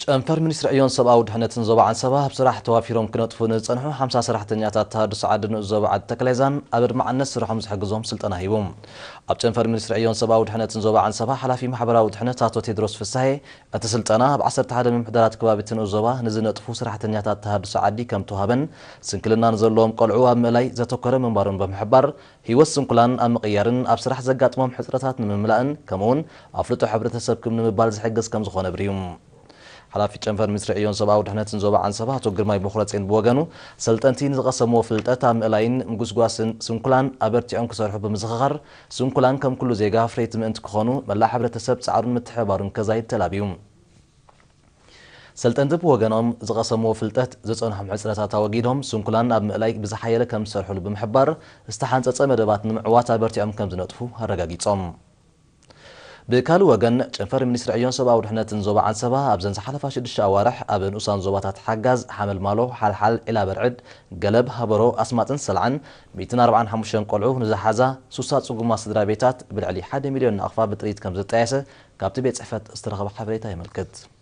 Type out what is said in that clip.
ጨንፈር ሚኒስትሪ ዕዮን ሰብኣዊ ድሕነትን ዞባ ዓንሰባ ኣብ ስራሕ ተዋፊሮም ክነጥፉ ንዝጸንሑ ሓምሳ ሰራሕተኛታት ተሃድሶ ዓዲ ንኡስ ዞባ ዓዲ ተክሌዛን ኣብ ኣድማዕነት ስርሖም ዝሕግዞም ስልጠና ሂቡ። ኣብ ጨንፈር ሚኒስትሪ ዕዮን ሰብኣዊ ድሕነትን ዞባ ዓንሰባ ሓላፊ ማሕበራዊ ድሕነት ኣቶ ቴድሮስ ፍሳሄ፣ እቲ ስልጠና ኣብ ዓሰርተ ሓደ ምምሕዳራት ከባቢ እቲ ንኡስ ዞባ ንዝነጥፉ ሰራሕተኛታት ተሃድሶ ዓዲ ከም ተዋህበን፣ ስንክልና ንዘለዎም ቆልዑ ኣብ ምእላይ ዘተኮረ ምንባሩን ብምሕባር፣ ህይወት ስንኩላን ኣብ ምቕያርን ኣብ ስራሕ ዘጋጥሞም ሕጽረታት ንምምላእን ከምኡውን ኣፍልጦ ሕብረተሰብኩም ንምባል ዝሕግዝ ከም ዝኾነ ኣብሪሁ። ሓላፊ ጨንፈር ሚኒስትሪ ዕዮን ሰብኣዊ ድሕነትን ዞባ ዓንሰባ ኣቶ ግርማይ ቦኽረጼን ብወገኑ፣ ሰልጠንቲ ንዝቐሰምዎ ፍልጠት ኣብ ምእላይን ምጉስጓስን ስንኩላን ኣበርቲዖም ክሰርሑ ብምዝኽኻር፣ ስንኩላን ከም ኩሉ ዜጋ ኣፍረይቲ ምእንቲ ክኾኑ መላእ ሕብረተሰብ ጻዕሩን ምትሕብባሩን ከዛይድ ተላብዩ። ሰልጠንቲ ብወገኖም ዝቐሰምዎ ፍልጠት ዝጸንሖም ሕጽረታት ኣወጊዶም ስንኩላን ኣብ ምእላይ ብዝሓየለ ከም ዝሰርሕሉ ብምሕባር፣ ዝተሓንጸጸ መደባት ንምዕዋት ኣበርቲዖም ከም ዝነጥፉ ኣረጋጊጾም። ብካልእ ወገን፣ ጨንፈር ሚኒስትሪ ዕዮን ሰብኣዊ ድሕነትን ዞባ ዓንሰባ ኣብዘን ዝሓለፋ ሽዱሽተ ኣዋርሕ ኣብ ንኡሳን ዞባታት ሓጋዝ፣ ሓመልማሎ፣ ሓልሓል፣ ዒላ በርዕድ፣ ገለብ፣ ሃበሮ፣ ኣስማጥን ሰልዓን ሚእትን ኣርባዓን ሓሙሽተን ቆልዑ ንዝሓዛ ሱሳ ጽጉማት ስድራ ቤታት ብልዕሊ ሓደ ሚልዮን ናቕፋ ብጥሪት ከም ዘጣየሰ ካብቲ ቤት ጽሕፈት ዝተረኸበ ሓበሬታ የመልክት።